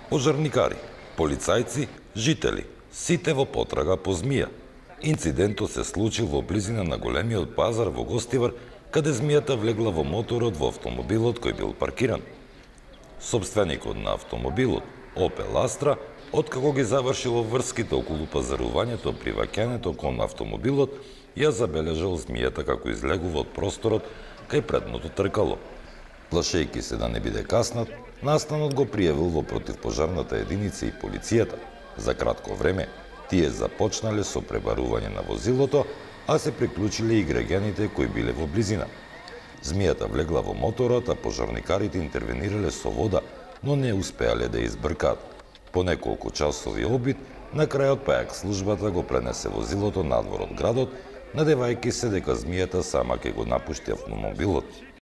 Пожарникари, полицајци, жители, сите во потрага по змија. Инцидентот се случил во близина на големиот пазар во Гостивар, каде змијата влегла во моторот во автомобилот кој бил паркиран. Сопственикот на автомобилот, Opel Astra, откако ги завршил врските околу пазарувањето при ваќањето кон автомобилот, ја забележал змијата како излегува од просторот кај предното тркало. Плашејќи се да не биде каснат, настанот го пријавил во противпожарната единица и полицијата. За кратко време, тие започнале со пребарување на возилото, а се приклучиле и граѓаните кои биле во близина. Змијата влегла во моторот, а пожарникарите интервенирале со вода, но не успеале да избркаат. По неколку часови обид, на крајот пајак службата го пренесе возилото надвор од градот, надевајќи се дека змијата сама ќе го напушти автомобилот.